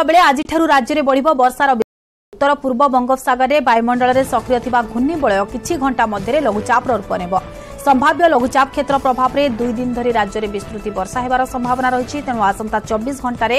ବେଳେ ଆଜିଠାରୁ ରାଜ୍ୟରେ ବଢ଼ିବ ବର୍ଷାର। ଉତ୍ତର ପୂର୍ବ ବଙ୍ଗୋପସାଗରରେ ବାୟୁମଣ୍ଡଳରେ ସକ୍ରିୟ ଥିବା ଘୂର୍ଣ୍ଣିବଳୟ କିଛି ଘଣ୍ଟା ମଧ୍ୟରେ ଲଘୁଚାପର ରୂପ ନେବ। ସମ୍ଭାବ୍ୟ ଲଘୁଚାପ କ୍ଷେତ୍ର ପ୍ରଭାବରେ 2 ଦିନ ଧରି ରାଜ୍ୟରେ ବିସ୍ତୃତି ବର୍ଷା ହେବାର ସମ୍ଭାବନା ରହିଛି। ତେଣୁ ଆସନ୍ତା 24 ଘଣ୍ଟାରେ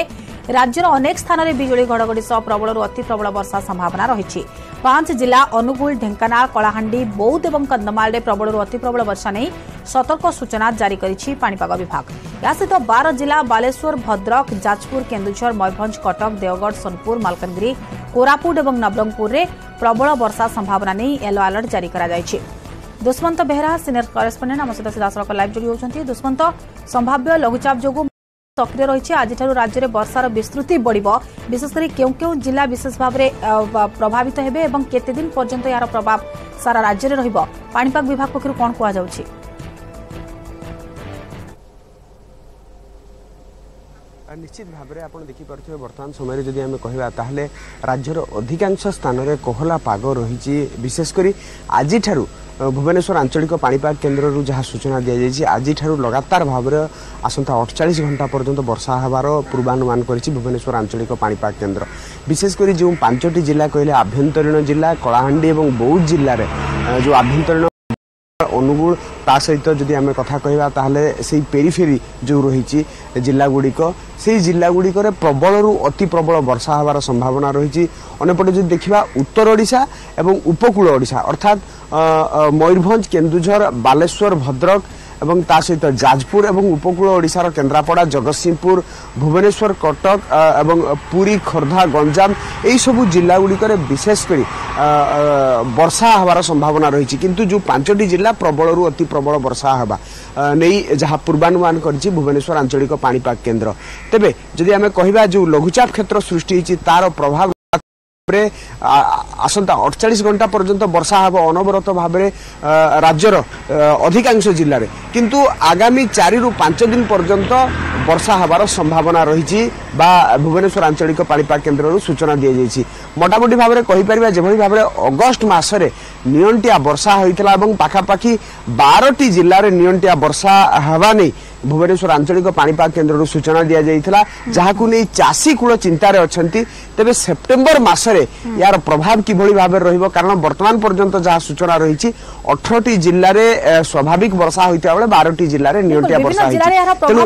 ରାଜ୍ୟର ଅନେକ ସ୍ଥାନରେ ବିଜୁଳି ଘଡ଼ଘଡ଼ି ସହ ପ୍ରବଳରୁ ଅତି ପ୍ରବଳ ବର୍ଷା ସମ୍ଭାବନା ରହିଛି। 5 ଜିଲ୍ଲା ଅନୁଗୁଳ, ଢେଙ୍କାନାଳ, କଳାହାଣ୍ଡି, ବୌଦ୍ଧ ଏବଂ କନ୍ଧମାଳରେ ପ୍ରବଳରୁ ଅତି ପ୍ରବଳ ବର୍ଷା ନେଇ ସତର୍କ ସୂଚନା ଜାରି କରିଛି ପାଣିପାଗ ବିଭାଗ। ଏହା ସହିତ 12 ଜିଲ୍ଲା ବାଲେଶ୍ୱର, ଭଦ୍ରକ, ଯାଜପୁର, କେନ୍ଦୁଝର, ମୟୂରଭଞ୍ଜ, କଟକ, ଦେଓଗଡ଼, ସୋନପୁର, ମାଲକାନଗିରି, କୋରାପୁଟ ଏବଂ ନବରଙ୍ଗପୁରରେ ପ୍ରବଳ ବର୍ଷା ସମ୍ଭାବନା ନେଇ ୟେଲୋ ଆଲର୍ଟ ଜାରି କରାଯାଇଛି। ଦୁଷ୍ମନ୍ତ ବେହେରା, ସିନିୟର କରେସ୍ପଣ୍ଡେଣ୍ଟ, ଆମ ସହିତ ସିଧାସଳଖ ଲାଇଭ୍ ଯୋଡ଼ି ହେଉଛନ୍ତି। ଦୁଷ୍ମନ୍ତ, ସମ୍ଭାବ୍ୟ ଲଘୁଚାପ ଯୋଗୁଁ ସକ୍ରିୟ ରହିଛି, ଆଜିଠାରୁ ରାଜ୍ୟରେ ବର୍ଷାର ବିସ୍ତୃତି ବଢ଼ିବ। ବିଶେଷ କରି କେଉଁ କେଉଁ ଜିଲ୍ଲା ବିଶେଷ ଭାବରେ ପ୍ରଭାବିତ ହେବେ ଏବଂ କେତେ ଦିନ ପର୍ଯ୍ୟନ୍ତ ଏହାର ପ୍ରଭାବ ସାରା ରାଜ୍ୟରେ ରହିବ, ପାଣିପାଗ ବିଭାଗ ପକ୍ଷରୁ କ'ଣ କୁହାଯାଉଛି? ନିଶ୍ଚିତ ଭାବରେ ଆପଣ ଦେଖିପାରୁଥିବେ, ବର୍ତ୍ତମାନ ସମୟରେ ଯଦି ଆମେ କହିବା ତାହେଲେ ରାଜ୍ୟର ଅଧିକାଂଶ ସ୍ଥାନରେ କୋହଲା ପାଗ ରହିଛି। ବିଶେଷ କରି ଆଜିଠାରୁ ଭୁବନେଶ୍ୱର ଆଞ୍ଚଳିକ ପାଣିପାଗ କେନ୍ଦ୍ରରୁ ଯାହା ସୂଚନା ଦିଆଯାଇଛି, ଆଜିଠାରୁ ଲଗାତାର ଭାବରେ ଆସନ୍ତା 48 ଘଣ୍ଟା ପର୍ଯ୍ୟନ୍ତ ବର୍ଷା ହେବାର ପୂର୍ବାନୁମାନ କରିଛି ଭୁବନେଶ୍ୱର ଆଞ୍ଚଳିକ ପାଣିପାଗ କେନ୍ଦ୍ର। ବିଶେଷ କରି ଯେଉଁ 5ଟି ଜିଲ୍ଲା କହିଲେ, ଆଭ୍ୟନ୍ତରୀଣ ଜିଲ୍ଲା କଳାହାଣ୍ଡି ଏବଂ ବୌଦ୍ଧ ଜିଲ୍ଲାରେ ଯେଉଁ ଆଭ୍ୟନ୍ତରୀଣ ଅନୁଗୁଳ, ତା ସହିତ ଯଦି ଆମେ କଥା କହିବା ତାହେଲେ ସେଇ ପେରିଫେରି ଯେଉଁ ରହିଛି ଜିଲ୍ଲାଗୁଡ଼ିକ, ସେଇ ଜିଲ୍ଲାଗୁଡ଼ିକରେ ପ୍ରବଳରୁ ଅତି ପ୍ରବଳ ବର୍ଷା ହେବାର ସମ୍ଭାବନା ରହିଛି। ଅନ୍ୟପଟେ ଯଦି ଦେଖିବା, ଉତ୍ତର ଓଡ଼ିଶା ଏବଂ ଉପକୂଳ ଓଡ଼ିଶା ଅର୍ଥାତ୍ ମୟୂରଭଞ୍ଜ, କେନ୍ଦୁଝର, ବାଲେଶ୍ୱର, ଭଦ୍ରକ ଏବଂ ତା ସହିତ ଯାଜପୁର ଏବଂ ଉପକୂଳ ଓଡ଼ିଶାର କେନ୍ଦ୍ରାପଡ଼ା, ଜଗତସିଂହପୁର, ଭୁବନେଶ୍ୱର, କଟକ ଏବଂ ପୁରୀ, ଖୋର୍ଦ୍ଧା, ଗଞ୍ଜାମ ଏହିସବୁ ଜିଲ୍ଲାଗୁଡ଼ିକରେ ବିଶେଷ କରି ବର୍ଷା ହେବାର ସମ୍ଭାବନା ରହିଛି। କିନ୍ତୁ ଯେଉଁ 5ଟି ଜିଲ୍ଲା ପ୍ରବଳରୁ ଅତି ପ୍ରବଳ ବର୍ଷା ହେବା ନେଇ ଯାହା ପୂର୍ବାନୁମାନ କରିଛି ଭୁବନେଶ୍ୱର ଆଞ୍ଚଳିକ ପାଣିପାଗ କେନ୍ଦ୍ର। ତେବେ ଯଦି ଆମେ କହିବା, ଯେଉଁ ଲଘୁଚାପ କ୍ଷେତ୍ର ସୃଷ୍ଟି ହେଇଛି ତାର ପ୍ରଭାବ ଆସନ୍ତା 48 ଘଣ୍ଟା ପର୍ଯ୍ୟନ୍ତ ବର୍ଷା ହେବ ଅନବରତ ଭାବରେ ରାଜ୍ୟର ଅଧିକାଂଶ ଜିଲ୍ଲାରେ। କିନ୍ତୁ ଆଗାମୀ 4ରୁ 5 ଦିନ ପର୍ଯ୍ୟନ୍ତ ବର୍ଷା ହେବାର ସମ୍ଭାବନା ରହିଛି ବା ଭୁବନେଶ୍ୱର ଆଞ୍ଚଳିକ ପାଣିପାଗ କେନ୍ଦ୍ରରୁ ସୂଚନା ଦିଆଯାଇଛି। ମୋଟାମୋଟି ଭାବରେ କହିପାରିବା, ଯେଭଳି ଭାବରେ ଅଗଷ୍ଟ ମାସରେ ନିଅଣ୍ଟିଆ ବର୍ଷା ହୋଇଥିଲା ଏବଂ ପାଖାପାଖି 12ଟି ଜିଲ୍ଲାରେ ନିଅଣ୍ଟିଆ ବର୍ଷା ହେବା ନେଇ ଭୁବନେଶ୍ୱର ଆଞ୍ଚଳିକ ପାଣିପାଗ କେନ୍ଦ୍ରରୁ ସୂଚନା ଦିଆଯାଇଥିଲା, ଯାହାକୁ ନେଇ ଚାଷୀ କୂଳ ଚିନ୍ତାରେ ଅଛନ୍ତି। ତେବେ ସେପ୍ଟେମ୍ବର ମାସରେ ଏହାର ପ୍ରଭାବ କିଭଳି ଭାବରେ ରହିବ? କାରଣ ବର୍ତ୍ତମାନ ପର୍ଯ୍ୟନ୍ତ ଯାହା ସୂଚନା ରହିଛି, 18ଟି ଜିଲ୍ଲାରେ ସ୍ୱାଭାବିକ ବର୍ଷା ହୋଇଥିବା ବେଳେ 12ଟି ଜିଲ୍ଲାରେ ନିଅଣ୍ଟିଆ ବର୍ଷା ହୋଇଛି। ତେଣୁ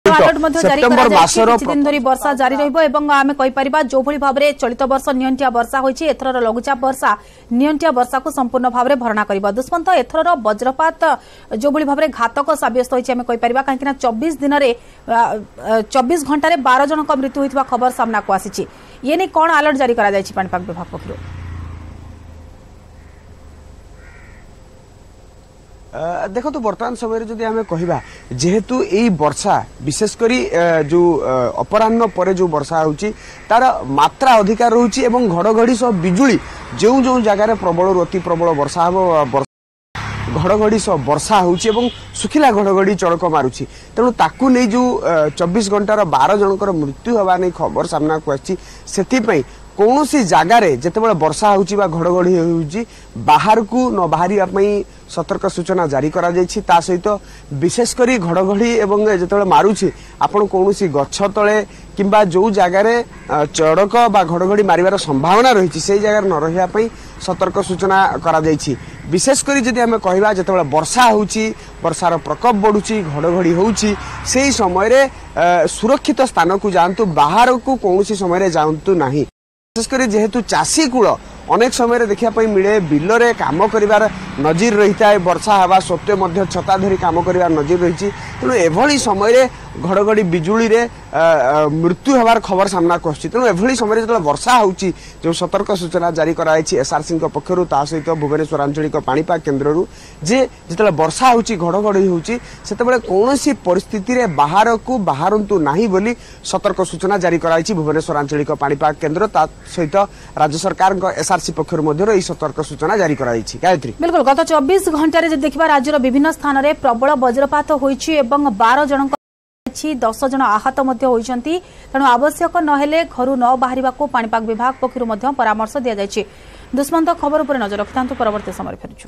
ସେପ୍ଟେମ୍ବର ମାସର ଦିନ ଧରି ବର୍ଷା ଜାରି ରହିବ ଏବଂ ଆମେ କହିପାରିବା, ଯେଉଁଭଳି ଭାବରେ ଚଳିତ ବର୍ଷ ନିଅଣ୍ଟିଆ ବର୍ଷା ହୋଇଛି, ଏଥରର ଲଘୁଚାପ ବର୍ଷା ନିଅଣ୍ଟିଆ ବର୍ଷାକୁ ସମ୍ପୂର୍ଣ୍ଣ ଭାବରେ ଭରଣା କରିବ। ଦୁଷ୍ମନ୍ତ, ଏଥରର ବଜ୍ରପାତ ଯେଉଁଭଳି ଭାବରେ ଘାତକ ସାବ୍ୟସ୍ତ ହୋଇଛି ଆମେ କହିପାରିବା, କାହିଁକିନା 24 ଦିନରେ 24 ଘଣ୍ଟାରେ 12 ଜଣଙ୍କ ମୃତ୍ୟୁ ହୋଇଥିବା ଖବର ସାମ୍ନାକୁ ଆସିଛି। ଇଏ ନେଇ କ'ଣ ଆଲର୍ଟ ଜାରି କରାଯାଇଛି ପାଣିପାଗ ବିଭାଗ ପକ୍ଷରୁ? ଦେଖନ୍ତୁ, ବର୍ତ୍ତମାନ ସମୟରେ ଯଦି ଆମେ କହିବା, ଯେହେତୁ ଏଇ ବର୍ଷା ବିଶେଷ କରି ଯେଉଁ ଅପରାହ୍ନ ପରେ ଯେଉଁ ବର୍ଷା ହେଉଛି ତାର ମାତ୍ରା ଅଧିକା ରହୁଛି ଏବଂ ଘଡ଼ଘଡ଼ି ସହ ବିଜୁଳି, ଯେଉଁ ଯେଉଁ ଜାଗାରେ ପ୍ରବଳରୁ ଅତି ପ୍ରବଳ ବର୍ଷା ହେବ, ଘଡ଼ଘଡ଼ି ସହ ବର୍ଷା ହେଉଛି ଏବଂ ଶୁଖିଲା ଘଡ଼ଘଡ଼ି ଚଡ଼କ ମାରୁଛି, ତେଣୁ ତାକୁ ନେଇ ଯେଉଁ 24 ଘଣ୍ଟାର 12 ଜଣଙ୍କର ମୃତ୍ୟୁ ହେବା ନେଇ ଖବର ସାମ୍ନାକୁ ଆସିଛି, ସେଥିପାଇଁ କୌଣସି ଜାଗାରେ ଯେତେବେଳେ ବର୍ଷା ହେଉଛି ବା ଘଡ଼ଘଡ଼ି ହେଉଛି ବାହାରକୁ ନ ବାହାରିବା ପାଇଁ ସତର୍କ ସୂଚନା ଜାରି କରାଯାଇଛି। ତା ସହିତ ବିଶେଷ କରି ଘଡ଼ଘଡ଼ି ଏବଂ ଯେତେବେଳେ ମାରୁଛି, ଆପଣ କୌଣସି ଗଛ ତଳେ କିମ୍ବା ଯେଉଁ ଜାଗାରେ ଚଡ଼କ ବା ଘଡ଼ଘଡ଼ି ମାରିବାର ସମ୍ଭାବନା ରହିଛି ସେଇ ଜାଗାରେ ନ ରହିବା ପାଇଁ ସତର୍କ ସୂଚନା କରାଯାଇଛି। ବିଶେଷ କରି ଯଦି ଆମେ କହିବା, ଯେତେବେଳେ ବର୍ଷା ହେଉଛି, ବର୍ଷାର ପ୍ରକୋପ ବଢ଼ୁଛି, ଘଡ଼ଘଡ଼ି ହେଉଛି, ସେହି ସମୟରେ ସୁରକ୍ଷିତ ସ୍ଥାନକୁ ଯାଆନ୍ତୁ, ବାହାରକୁ କୌଣସି ସମୟରେ ଯାଆନ୍ତୁ ନାହିଁ। ବିଶେଷ କରି ଯେହେତୁ ଚାଷୀ କୂଳ ଅନେକ ସମୟରେ ଦେଖିବା ପାଇଁ ମିଳେ, ବିଲରେ କାମ କରିବାର ନଜିର ରହିଥାଏ, ବର୍ଷା ହେବା ସତ୍ତ୍ୱେ ମଧ୍ୟ ଛତା ଧରି କାମ କରିବାର ନଜିର ରହିଛି। ତେଣୁ ଏଭଳି ସମୟରେ ଘଡ଼ଘଡ଼ି ବିଜୁଳିରେ ମୃତ୍ୟୁ ହେବାର ଖବର ସାମ୍ନାକୁ ଆସୁଛି। ତେଣୁ ଏଭଳି ସମୟରେ ଯେତେବେଳେ ବର୍ଷା ହେଉଛି, ଯେଉଁ ସତର୍କ ସୂଚନା ଜାରି କରାଯାଇଛି ଏସ୍ଆରସିଙ୍କ ପକ୍ଷରୁ, ତା ସହିତ ଭୁବନେଶ୍ୱର ଆଞ୍ଚଳିକ ପାଣିପାଗ କେନ୍ଦ୍ରରୁ, ଯେ ଯେତେବେଳେ ବର୍ଷା ହେଉଛି, ଘଡ଼ଘଡ଼ି ହେଉଛି, ସେତେବେଳେ କୌଣସି ପରିସ୍ଥିତିରେ ବାହାରକୁ ବାହାରନ୍ତୁ ନାହିଁ ବୋଲି ସତର୍କ ସୂଚନା ଜାରି କରାଯାଇଛି ଭୁବନେଶ୍ୱର ଆଞ୍ଚଳିକ ପାଣିପାଗ କେନ୍ଦ୍ର, ତା ସହିତ ରାଜ୍ୟ ସରକାରଙ୍କ ଏସ୍ଆରସି ପକ୍ଷରୁ ମଧ୍ୟ ଏହି ସତର୍କ ସୂଚନା ଜାରି କରାଯାଇଛି। ଗାୟତ୍ରୀ। ବିଲକୁଲ, ଗତ 24 ଘଣ୍ଟାରେ ଯଦି ଦେଖିବା, ରାଜ୍ୟର ବିଭିନ୍ନ ସ୍ଥାନରେ ପ୍ରବଳ ବଜ୍ରପାତ ହୋଇଛି ଏବଂ 12 ଜଣଙ୍କ 10 ଜଣ ଆହତ ମଧ୍ୟ ହୋଇଛନ୍ତି। ତେଣୁ ଆବଶ୍ୟକ ନହେଲେ ଘରୁ ନ ବାହାରିବାକୁ ପାଣିପାଗ ବିଭାଗ ପକ୍ଷରୁ ମଧ୍ୟ ପରାମର୍ଶ ଦିଆଯାଇଛି। ଦୁଷ୍ମନ୍ତ, ଖବର ଉପରେ ନଜର ରଖିଥାନ୍ତୁ, ପରବର୍ତ୍ତୀ ସମୟରେ ଫେରୁଛୁ।